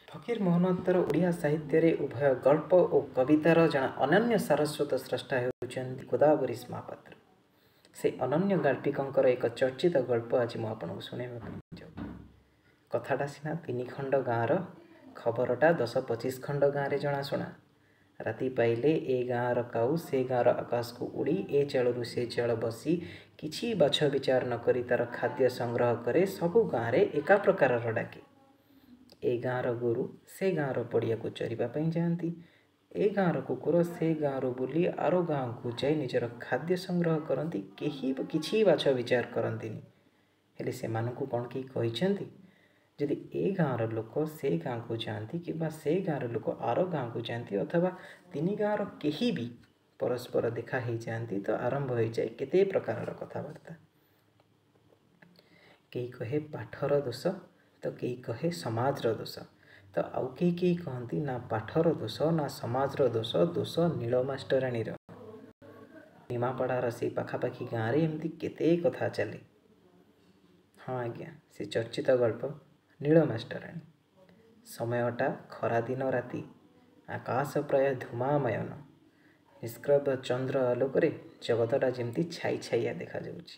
ଫକୀର ମୋହନଙ୍କର ଓଡ଼ିଆ ସାହିତ୍ୟରେ ଉଭୟ ଗଳ୍ପ ଓ କବିତାର ଜଣେ ଅନନ୍ୟ ସାରସ୍ୱତ ସ୍ରଷ୍ଟା ହେଉଛନ୍ତି ଗୋଦାବରୀଶ ମହାପାତ୍ର। ସେ ଅନନ୍ୟ ଗାଳ୍ପିକଙ୍କର ଏକ ଚର୍ଚ୍ଚିତ ଗଳ୍ପ ଆଜି ମୁଁ ଆପଣଙ୍କୁ ଶୁଣାଇବା ପାଇଁ ଯାଉଛି। କଥାଟା ସିନା 3 ଖଣ୍ଡ ଗାଁର, ଖବରଟା 10-25 ଖଣ୍ଡ ଗାଁରେ ଜଣାଶୁଣା। ରାତି ପାଇଲେ ଏ ଗାଁର କାଉ ସେ ଗାଁର ଆକାଶକୁ ଉଡ଼ି ଏ ଚାଳରୁ ସେ ଚାଳ ବସି କିଛି ବାଛ ବିଚାର ନ କରି ତା'ର ଖାଦ୍ୟ ସଂଗ୍ରହ କରେ। ସବୁ ଗାଁରେ ଏକା ପ୍ରକାରର ଡାକେ। ଏ ଗାଁର ଗୋରୁ ସେ ଗାଁର ପଡ଼ିଆକୁ ଚରିବା ପାଇଁ ଯାଆନ୍ତି। ଏ ଗାଁର କୁକୁର ସେ ଗାଁରୁ ବୁଲି ଆର ଗାଁକୁ ଯାଇ ନିଜର ଖାଦ୍ୟ ସଂଗ୍ରହ କରନ୍ତି। କେହି କିଛି ବାଛ ବିଚାର କରନ୍ତିନି। ହେଲେ ସେମାନଙ୍କୁ କ'ଣ କେହି କହିଛନ୍ତି? ଯଦି ଏ ଗାଁର ଲୋକ ସେ ଗାଁକୁ ଯାଆନ୍ତି କିମ୍ବା ସେ ଗାଁର ଲୋକ ଆର ଗାଁକୁ ଯାଆନ୍ତି ଅଥବା 3 ଗାଁର କେହି ବି ପରସ୍ପର ଦେଖା ହେଇଯାଆନ୍ତି ତ ଆରମ୍ଭ ହୋଇଯାଏ କେତେ ପ୍ରକାରର କଥାବାର୍ତ୍ତା। କେହି କହେ ପାଠର ଦୋଷ, ତ କେହି କହେ ସମାଜର ଦୋଷ, ତ ଆଉ କେହି କେହି କହନ୍ତି ନା ପାଠର ଦୋଷ ନା ସମାଜର ଦୋଷ, ଦୋଷ ନୀଳ ମାଷ୍ଟରାଣୀର। ନିମାପଡ଼ାର ସେଇ ପାଖାପାଖି ଗାଁରେ ଏମିତି କେତେ କଥା ଚାଲେ। ହଁ ଆଜ୍ଞା, ସେ ଚର୍ଚ୍ଚିତ ଗଳ୍ପ ନୀଳ ମାଷ୍ଟରାଣୀ। ସମୟଟା ଖରାଦିନ ରାତି, ଆକାଶ ପ୍ରାୟ ଧୂମାମୟନ। ନିଷ୍କ୍ରବ ଚନ୍ଦ୍ର ଆଲୋକରେ ଜଗତଟା ଯେମିତି ଛାଇ ଛାଇଆ ଦେଖାଯାଉଛି।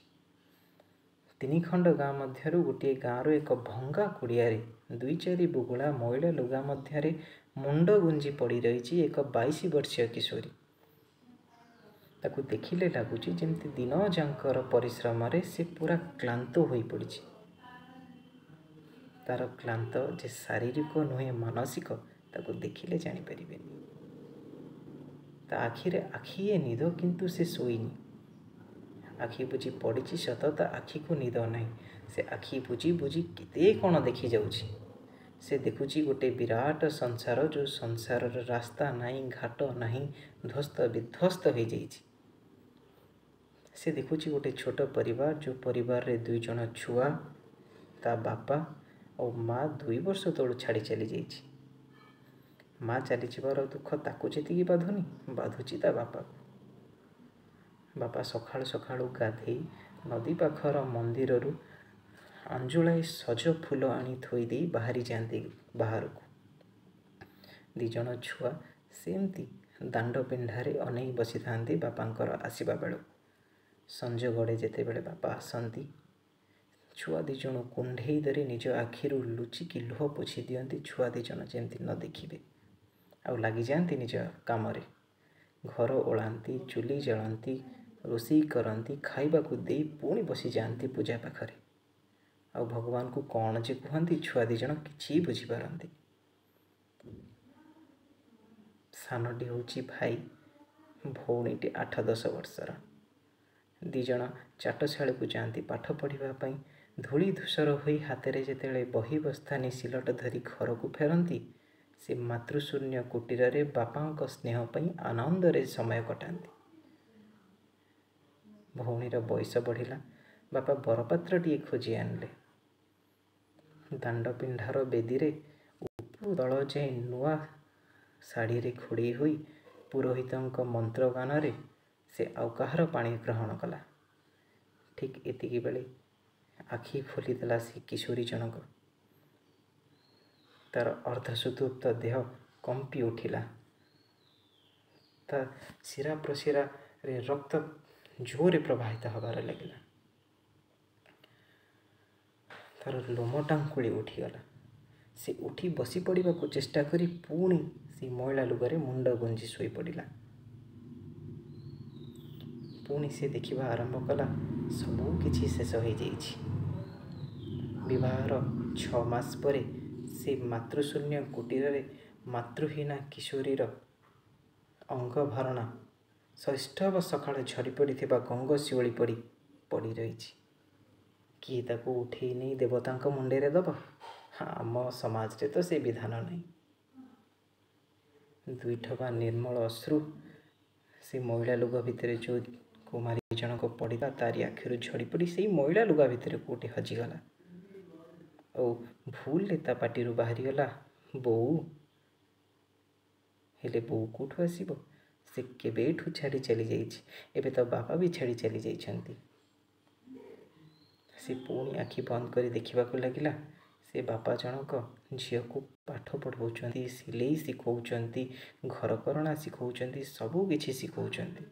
3 ଖଣ୍ଡ ଗାଁ ମଧ୍ୟରୁ ଗୋଟିଏ ଗାଁର ଏକ ଭଙ୍ଗା କୁଡ଼ିଆରେ 2-4 ବୁଗୁଳା ମଇଳା ଲୁଗା ମଧ୍ୟରେ ମୁଣ୍ଡ ଗୁଞ୍ଜି ପଡ଼ି ରହିଛି ଏକ 22 ବର୍ଷୀୟ କିଶୋରୀ। ତାକୁ ଦେଖିଲେ ଲାଗୁଛି ଯେମିତି ଦିନ ଯାକର ପରିଶ୍ରମରେ ସେ ପୁରା କ୍ଳାନ୍ତ ହୋଇପଡ଼ିଛି। ତାର କ୍ଳାନ୍ତ ଯେ ଶାରୀରିକ ନୁହେଁ ମାନସିକ, ତାକୁ ଦେଖିଲେ ଜାଣିପାରିବେନି। ତା ଆଖିରେ ଆଖିଏ ନିଦ, କିନ୍ତୁ ସେ ଶୋଇନି। ଆଖି ବୁଜି ପଡ଼ିଛି ସତ, ତା ଆଖିକୁ ନିଦ ନାହିଁ। ସେ ଆଖି ବୁଜି ବୁଜି କେତେ କ'ଣ ଦେଖିଯାଉଛି। ସେ ଦେଖୁଛି ଗୋଟେ ବିରାଟ ସଂସାର, ଯେଉଁ ସଂସାରର ରାସ୍ତା ନାହିଁ, ଘାଟ ନାହିଁ, ଧ୍ୱସ୍ତ ବିଧ୍ୱସ୍ତ ହୋଇଯାଇଛି। ସେ ଦେଖୁଛି ଗୋଟେ ଛୋଟ ପରିବାର, ଯେଉଁ ପରିବାରରେ 2 ଜଣ ଛୁଆ, ତା ବାପା ଆଉ ମା 2 ବର୍ଷ ତଳୁ ଛାଡ଼ି ଚାଲିଯାଇଛି। ମା ଚାଲିଯିବାର ଦୁଃଖ ତାକୁ ଯେତିକି ବାଧୁନି, ବାଧୁଛି ତା ବାପାକୁ। ବାପା ସକାଳୁ ସକାଳୁ ଗାଧେଇ ନଦୀ ପାଖର ମନ୍ଦିରରୁ ଆଞ୍ଜୁଳାଏ ସଜ ଫୁଲ ଆଣି ଥୋଇ ଦେଇ ବାହାରି ଯାଆନ୍ତି ବାହାରକୁ। 2 ଜଣ ଛୁଆ ସେମିତି ଦାଣ୍ଡ ପିଣ୍ଡାରେ ଅନେଇ ବସିଥାନ୍ତି ବାପାଙ୍କର ଆସିବା ବେଳକୁ। ସଞ୍ଜ ଗଡ଼େ ଯେତେବେଳେ ବାପା ଆସନ୍ତି, ଛୁଆ 2 ଜଣ କୁଣ୍ଢେଇ ଧରି ନିଜ ଆଖିରୁ ଲୁଚିକି ଲୁହ ପୋଛି ଦିଅନ୍ତି, ଛୁଆ 2 ଜଣ ଯେମିତି ନ ଦେଖିବେ। ଆଉ ଲାଗିଯାଆନ୍ତି ନିଜ କାମରେ। ଘର ଓଳାନ୍ତି, ଚୁଲି ଜାଳନ୍ତି, ରୋଷେଇ କରନ୍ତି, ଖାଇବାକୁ ଦେଇ ପୁଣି ବସିଯାଆନ୍ତି ପୂଜା ପାଖରେ। ଆଉ ଭଗବାନଙ୍କୁ କ'ଣ ଯେ କୁହନ୍ତି ଛୁଆ 2 ଜଣ କିଛି ବୁଝିପାରନ୍ତି। ସାନଟି ହେଉଛି ଭାଇ, ଭଉଣୀଟି 8-10 ବର୍ଷର। 2 ଜଣ ଚାଟଶାଳୀକୁ ଯାଆନ୍ତି ପାଠ ପଢ଼ିବା ପାଇଁ। ଧୂଳି ଧୂସର ହୋଇ ହାତରେ ଯେତେବେଳେ ବହି ବସ୍ତାନି ସିଲଟ ଧରି ଘରକୁ ଫେରନ୍ତି, ସେ ମାତୃଶୂନ୍ୟ କୁଟୀରରେ ବାପାଙ୍କ ସ୍ନେହ ପାଇଁ ଆନନ୍ଦରେ ସମୟ କଟାନ୍ତି। ଭଉଣୀର ବୟସ ବଢ଼ିଲା, ବାପା ବରପାତ୍ରଟିଏ ଖୋଜି ଆଣିଲେ। ଦାଣ୍ଡ ପିଣ୍ଡାର ବେଦୀରେ ଉପରୁ ତଳ ଯାଏଁ ନୂଆ ଶାଢ଼ୀରେ ଘୋଡ଼େଇ ହୋଇ ପୁରୋହିତଙ୍କ ମନ୍ତ୍ରଗାନରେ ସେ ଆଉ କାହାର ପାଣି ଗ୍ରହଣ କଲା। ଠିକ୍ ଏତିକି ବେଳେ ଆଖି ଖୋଲିଦେଲା ସେ କିଶୋରୀ ଜଣକ। ତାର ଅର୍ଦ୍ଧସୁତୁପ୍ତ ଦେହ କମ୍ପି ଉଠିଲା। ତା ଶିରା ପ୍ରଶିରାରେ ରକ୍ତ ଜୋରରେ ପ୍ରବାହିତ ହେବାରେ ଲାଗିଲା। ତାର ଲୋମ ଟାଙ୍କୁଳି ଉଠିଗଲା। ସେ ଉଠି ବସି ପଡ଼ିବାକୁ ଚେଷ୍ଟା କରି ପୁଣି ସେ ମଇଳା ଲୁଗାରେ ମୁଣ୍ଡ ଗୁଞ୍ଜି ଶୋଇପଡ଼ିଲା। ପୁଣି ସେ ଦେଖିବା ଆରମ୍ଭ କଲା, ସବୁ କିଛି ଶେଷ ହୋଇଯାଇଛି। ବିବାହର 6 ମାସ ପରେ ସେ ମାତୃଶୂନ୍ୟ କୁଟୀରରେ ମାତୃହୀନା କିଶୋରୀର ଅଙ୍ଗଭରଣା ସୈଷ୍ଠବ ସକାଳେ ଝରି ପଡ଼ିଥିବା ଗଙ୍ଗଶିଉଳି ପଡ଼ି ପଡ଼ି ରହିଛି। କିଏ ତାକୁ ଉଠେଇ ନେଇ ଦେବତାଙ୍କ ମୁଣ୍ଡରେ ଦେବ? ଆମ ସମାଜରେ ତ ସେ ବିଧାନ ନାହିଁ। 2 ଠୋପା ନିର୍ମଳ ଅଶ୍ରୁ ସେ ମଇଳା ଲୁଗା ଭିତରେ ଯେଉଁ କୁମାରୀ ଜଣକ ପଡ଼ିଲା, ତାରି ଆଖିରୁ ଝରି ପଡ଼ି ସେଇ ମଇଳା ଲୁଗା ଭିତରେ କେଉଁଠି ହଜିଗଲା। ଆଉ ଭୁଲରେ ତା ପାଟିରୁ ବାହାରିଗଲା ବୋଉ। ହେଲେ ବୋଉ କେଉଁଠୁ ଆସିବ? ସେ କେବେଠୁ ଛାଡ଼ି ଚାଲିଯାଇଛି। ଏବେ ତ ବାପା ବି ଛାଡ଼ି ଚାଲି ଯାଇଛନ୍ତି। ସେ ପୁଣି ଆଖି ବନ୍ଦ କରି ଦେଖିବାକୁ ଲାଗିଲା ସେ ବାପା ଜଣକ ଝିଅକୁ ପାଠ ପଢ଼ାଉଛନ୍ତି, ସିଲେଇ ଶିଖାଉଛନ୍ତି, ଘରକରଣା ଶିଖାଉଛନ୍ତି, ସବୁ କିଛି ଶିଖାଉଛନ୍ତି।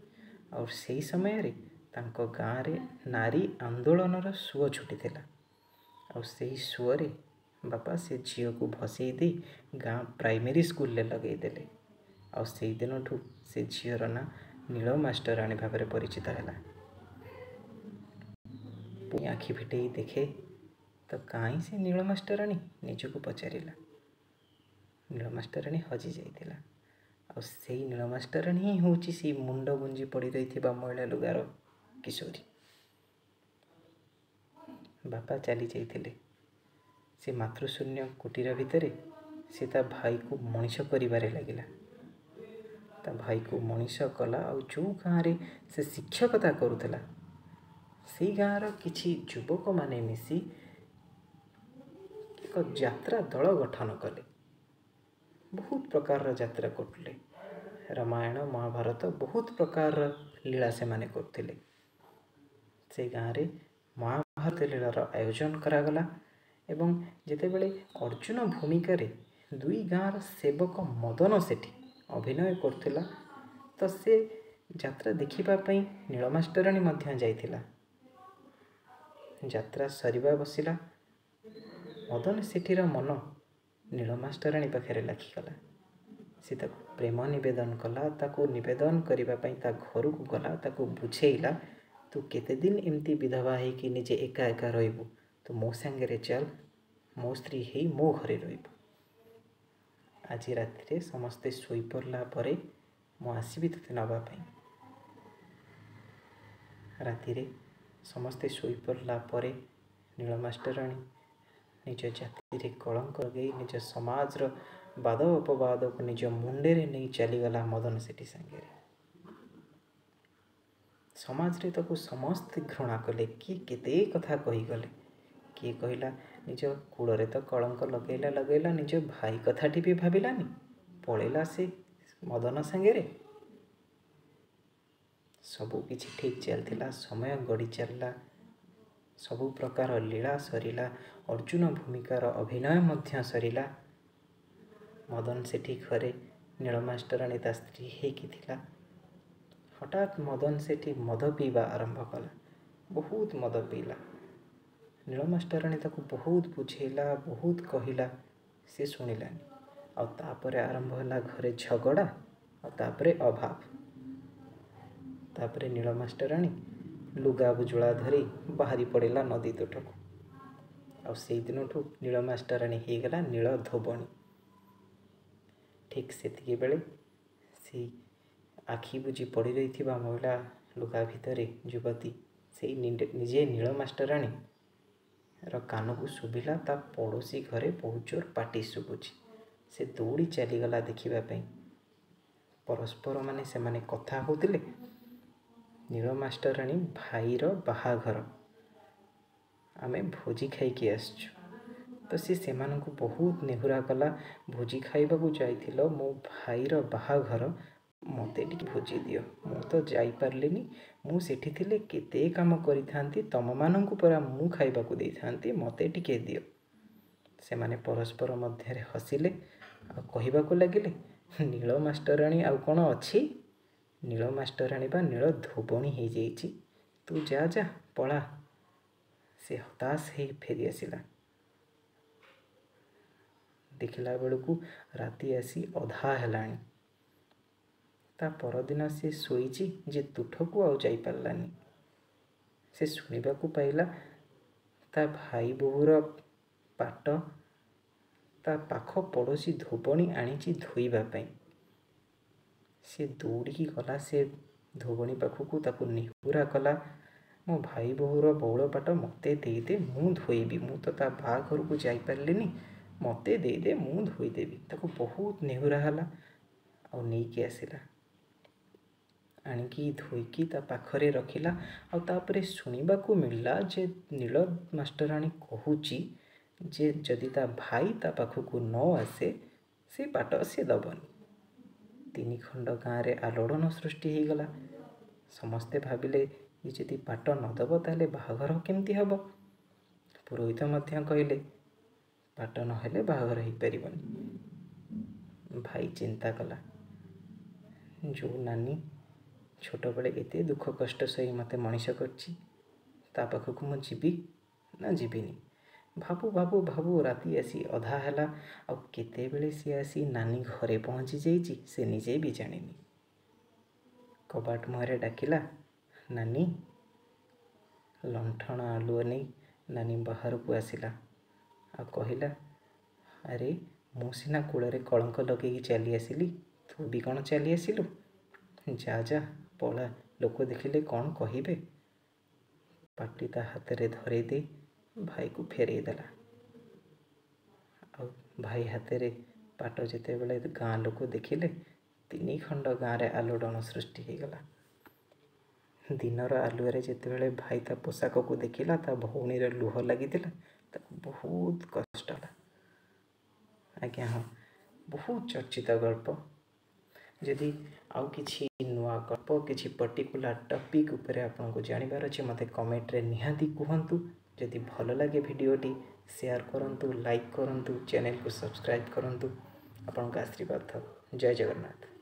ଆଉ ସେଇ ସମୟରେ ତାଙ୍କ ଗାଁରେ ନାରୀ ଆନ୍ଦୋଳନର ସୁଅ ଛୁଟିଥିଲା। ଆଉ ସେହି ସୁଅରେ ବାପା ସେ ଝିଅକୁ ଭସେଇ ଦେଇ ଗାଁ ପ୍ରାଇମେରୀ ସ୍କୁଲରେ ଲଗେଇଦେଲେ। ଆଉ ସେଇ ଦିନଠୁ ସେ ଝିଅର ନାଁ ନୀଳ ମାଷ୍ଟରାଣୀ ଭାବରେ ପରିଚିତ ହେଲା। ପୁଣି ଆଖି ଫିଟେଇ ଦେଖେ ତ କାହିଁ ସେ ନୀଳ ମାଷ୍ଟରାଣୀ, ନିଜକୁ ପଚାରିଲା। ନୀଳ ମାଷ୍ଟରାଣୀ ହଜି ଯାଇଥିଲା। ଆଉ ସେଇ ନୀଳ ମାଷ୍ଟରାଣୀ ହିଁ ହେଉଛି ସେଇ ମୁଣ୍ଡ ଗୁଞ୍ଜି ପଡ଼ି ରହିଥିବା ମଇଳା ଲୁଗାର କିଶୋରୀ। ବାପା ଚାଲି ଯାଇଥିଲେ। ସେ ମାତୃଶୂନ୍ୟ କୁଟୀର ଭିତରେ ସେ ତା ଭାଇକୁ ମଣିଷ କରିବାରେ ଲାଗିଲା। ତା ଭାଇକୁ ମଣିଷ କଲା। ଆଉ ଯେଉଁ ଗାଁରେ ସେ ଶିକ୍ଷକତା କରୁଥିଲା, ସେଇ ଗାଁର କିଛି ଯୁବକମାନେ ମିଶି ଏକ ଯାତ୍ରା ଦଳ ଗଠନ କଲେ। ବହୁତ ପ୍ରକାରର ଯାତ୍ରା କରୁଥିଲେ। ରାମାୟଣ, ମହାଭାରତ, ବହୁତ ପ୍ରକାରର ଲୀଳା ସେମାନେ କରୁଥିଲେ। ସେ ଗାଁରେ ମହାଭାରତ ଲୀଳାର ଆୟୋଜନ କରାଗଲା ଏବଂ ଯେତେବେଳେ ଅର୍ଜୁନ ଭୂମିକାରେ ଦୁଇ ଗାଁର ସେବକ ମଦନ ସେଠି ଅଭିନୟ କରୁଥିଲା, ତ ସେ ଯାତ୍ରା ଦେଖିବା ପାଇଁ ନୀଳ ମାଷ୍ଟରାଣୀ ମଧ୍ୟ ଯାଇଥିଲା। ଯାତ୍ରା ସରିବା ବସିଲା, ମଦନ ସେଠିର ମନ ନୀଳ ମାଷ୍ଟରାଣୀ ପାଖରେ ଲାଖିଗଲା। ସେ ତାକୁ ପ୍ରେମ ନିବେଦନ କଲା। ତାକୁ ନିବେଦନ କରିବା ପାଇଁ ତା ଘରକୁ ଗଲା, ତାକୁ ବୁଝେଇଲା, ତୁ କେତେଦିନ ଏମିତି ବିଧବା ହେଇକି ନିଜେ ଏକା ଏକା ରହିବୁ? ତୁ ମୋ ସାଙ୍ଗରେ ଚାଲ, ମୋ ସ୍ତ୍ରୀ ହେଇ ମୋ ଘରେ ରହିବୁ। ଆଜି ରାତିରେ ସମସ୍ତେ ଶୋଇପଡ଼ିଲା ପରେ ମୁଁ ଆସିବି ତୋତେ ନେବା ପାଇଁ। ରାତିରେ ସମସ୍ତେ ଶୋଇପଡ଼ିଲା ପରେ ନୀଳ ମାଷ୍ଟରାଣୀ ନିଜ ଜାତିରେ କଳଙ୍କ ଲଗେଇ, ନିଜ ସମାଜର ବାଦ ଅପବାଦକୁ ନିଜ ମୁଣ୍ଡରେ ନେଇ ଚାଲିଗଲା ମଦନ ସେଠି ସାଙ୍ଗରେ। ସମାଜରେ ତାକୁ ସମସ୍ତେ ଘୃଣା କଲେ। କିଏ କେତେ କଥା କହିଗଲେ। କିଏ କହିଲା, ନିଜ କୂଳରେ ତ କଳଙ୍କ ଲଗେଇଲା ଲଗେଇଲା, ନିଜ ଭାଇ କଥାଟି ବି ଭାବିଲାନି, ପଳେଇଲା ସେ ମଦନ ସାଙ୍ଗରେ। ସବୁ କିଛି ଠିକ୍ ଚାଲିଥିଲା। ସମୟ ଗଡ଼ି ଚାଲିଲା, ସବୁ ପ୍ରକାର ଲୀଳା ସରିଲା, ଅର୍ଜୁନ ଭୂମିକାର ଅଭିନୟ ମଧ୍ୟ ସରିଲା। ମଦନ ସେଠି ଘରେ ନୀଳ ମାଷ୍ଟରାଣୀ ତା ସ୍ତ୍ରୀ ହେଇକି ଥିଲା। ହଠାତ୍ ମଦନ ସେଠି ମଦ ପିଇବା ଆରମ୍ଭ କଲା। ବହୁତ ମଦ ପିଇଲା। ନୀଳ ମାଷ୍ଟରାଣୀ ତାକୁ ବହୁତ ବୁଝେଇଲା, ବହୁତ କହିଲା, ସେ ଶୁଣିଲାନି। ଆଉ ତାପରେ ଆରମ୍ଭ ହେଲା ଘରେ ଝଗଡ଼ା, ଆଉ ତାପରେ ଅଭାବ। ତାପରେ ନୀଳ ମାଷ୍ଟରାଣୀ ଲୁଗା ବୁଜୁଳା ଧରି ବାହାରି ପଡ଼ିଲା ନଦୀ ତୁଠକୁ। ଆଉ ସେଇ ଦିନଠୁ ନୀଳ ମାଷ୍ଟରାଣୀ ହେଇଗଲା ନୀଳ ଧୋବଣୀ। ଠିକ୍ ସେତିକି ବେଳେ ସେଇ ଆଖି ବୁଜି ପଡ଼ି ରହିଥିବା ମହିଳା ଲୁଗା ଭିତରେ ଯୁବତୀ, ସେଇ ନିଜେ ନୀଳ ମାଷ୍ଟରାଣୀର କାନକୁ ଶୁଭିଲା ତା ପଡ଼ୋଶୀ ଘରେ ବହୁତ ଜୋର ପାଟି ଶୁଭୁଛି। ସେ ଦୌଡ଼ି ଚାଲିଗଲା ଦେଖିବା ପାଇଁ। ପରସ୍ପର ମାନେ ସେମାନେ କଥା ହେଉଥିଲେ, ନୀଳ ମାଷ୍ଟରାଣୀ ଭାଇର ବାହାଘର, ଆମେ ଭୋଜି ଖାଇକି ଆସିଛୁ। ତ ସେ ସେମାନଙ୍କୁ ବହୁତ ନେହୁରା କଲା, ଭୋଜି ଖାଇବାକୁ ଯାଇଥିଲ, ମୋ ଭାଇର ବାହାଘର, ମୋତେ ଟିକେ ଭୋଜି ଦିଅ, ମୁଁ ତ ଯାଇପାରିଲିନି, ମୁଁ ସେଠି ଥିଲେ କେତେ କାମ କରିଥାନ୍ତି, ତମମାନଙ୍କୁ ପରା ମୁଁ ଖାଇବାକୁ ଦେଇଥାନ୍ତି, ମୋତେ ଟିକେ ଦିଅ। ସେମାନେ ପରସ୍ପର ମଧ୍ୟରେ ହସିଲେ ଆଉ କହିବାକୁ ଲାଗିଲେ, ନୀଳ ମାଷ୍ଟରାଣୀ ଆଉ କ'ଣ ଅଛି? ନୀଳ ମାଷ୍ଟରାଣୀ ବା ନୀଳ ଧୋବଣୀ ହେଇଯାଇଛି। ତୁ ଯା, ଯା ପଳା। ସେ ହତାଶ ହେଇ ଫେରି ଆସିଲା। ଦେଖିଲା ବେଳକୁ ରାତି ଆସି ଅଧା ହେଲାଣି। ତା ପରଦିନ ସେ ଶୋଇଛି ଯେ ତୁଠକୁ ଆଉ ଯାଇପାରିଲାନି। ସେ ଶୁଣିବାକୁ ପାଇଲା ତା ଭାଇ ବୋହୂର ପାଟ ତା ପାଖ ପଡ଼ୋଶୀ ଧୋବଣୀ ଆଣିଛି ଧୋଇବା ପାଇଁ। ସେ ଦୌଡ଼ିକି ଗଲା ସେ ଧୋବଣୀ ପାଖକୁ, ତାକୁ ନେହୁରା କଲା, ମୋ ଭାଇ ବୋହୂର ବଉଳ ପାଟ ମୋତେ ଦେଇଦେ, ମୁଁ ଧୋଇବି, ମୁଁ ତ ତା ବାହାଘରକୁ ଯାଇପାରିଲିନି, ମୋତେ ଦେଇଦେ, ମୁଁ ଧୋଇଦେବି। ତାକୁ ବହୁତ ନେହୁରା ହେଲା ଆଉ ନେଇକି ଆସିଲା। ଆଣିକି ଧୋଇକି ତା ପାଖରେ ରଖିଲା। ଆଉ ତାପରେ ଶୁଣିବାକୁ ମିଳିଲା ଯେ ନୀଳ ମାଷ୍ଟରାଣୀ କହୁଛି ଯେ ଯଦି ତା ଭାଇ ତା ପାଖକୁ ନ ଆସେ, ସେ ପାଟ ସେ ଦେବନି। ତିନି ଖଣ୍ଡ ଗାଁରେ ଆଲୋଡ଼ନ ସୃଷ୍ଟି ହେଇଗଲା। ସମସ୍ତେ ଭାବିଲେ, ଇଏ ଯଦି ପାଟ ନ ଦେବ ତାହେଲେ ବାହାଘର କେମିତି ହେବ? ପୁରୋହିତ ମଧ୍ୟ କହିଲେ, ପାଟ ନହେଲେ ବାହାଘର ହେଇପାରିବନି। ଭାଇ ଚିନ୍ତା କଲା, ଯେଉଁ ନାନୀ ଛୋଟବେଳେ ଏତେ ଦୁଃଖ କଷ୍ଟ ସହି ମୋତେ ମଣିଷ କରିଛି, ତା ପାଖକୁ ମୁଁ ଯିବି ନା ଯିବିନି? ଭାବୁ ଭାବୁ ଭାବୁ ରାତି ଆସି ଅଧା ହେଲା, ଆଉ କେତେବେଳେ ସିଏ ଆସି ନାନୀ ଘରେ ପହଞ୍ଚି ଯାଇଛି ସେ ନିଜେ ବି ଜାଣିନି। କବାଟ ମୁହଁରେ ଡାକିଲା, ନାନୀ। ଲଣ୍ଠନ ଆଲୁଅ ନେଇ ନାନୀ ବାହାରକୁ ଆସିଲା ଆଉ କହିଲା, ଆରେ ମୁଁ ସିନା କୂଳରେ କଳଙ୍କ ଲଗେଇକି ଚାଲି ଆସିଲି, ତୁ ବି କ'ଣ ଚାଲି ଆସିଲୁ? ଯା ଯା ପଳା, ଲୋକ ଦେଖିଲେ କ'ଣ କହିବେ? ପାଟି ତା ହାତରେ ଧରେଇ ଦେଇ ଭାଇକୁ ଫେରେଇ ଦେଲା। ଆଉ ଭାଇ ହାତରେ ପାଟ ଯେତେବେଳେ ଗାଁ ଲୋକ ଦେଖିଲେ, 3 ଖଣ୍ଡ ଗାଁରେ ଆଲୋଡ଼ନ ସୃଷ୍ଟି ହେଇଗଲା। ଦିନର ଆଲୁଅରେ ଯେତେବେଳେ ଭାଇ ତା ପୋଷାକକୁ ଦେଖିଲା, ତା ଭଉଣୀର ଲୁହ ଲାଗିଥିଲା, ତାକୁ ବହୁତ କଷ୍ଟ ହେଲା। ଆଜ୍ଞା ହଁ, ବହୁତ ଚର୍ଚ୍ଚିତ ଗଳ୍ପ। ଯଦି ଆଉ କିଛି ନୂଆ ଗଳ୍ପ, କିଛି ପର୍ଟିକୁଲାର ଟପିକ୍ ଉପରେ ଆପଣଙ୍କୁ ଜାଣିବାର ଅଛି, ମୋତେ କମେଣ୍ଟରେ ନିହାତି କୁହନ୍ତୁ। ଯଦି ଭଲ ଲାଗେ ଭିଡ଼ିଓଟି, ସେୟାର କରନ୍ତୁ, ଲାଇକ୍ କରନ୍ତୁ, ଚ୍ୟାନେଲକୁ ସବସ୍କ୍ରାଇବ୍ କରନ୍ତୁ। ଆପଣଙ୍କ ଆଶୀର୍ବାଦ ଥାଉ। ଜୟ ଜଗନ୍ନାଥ।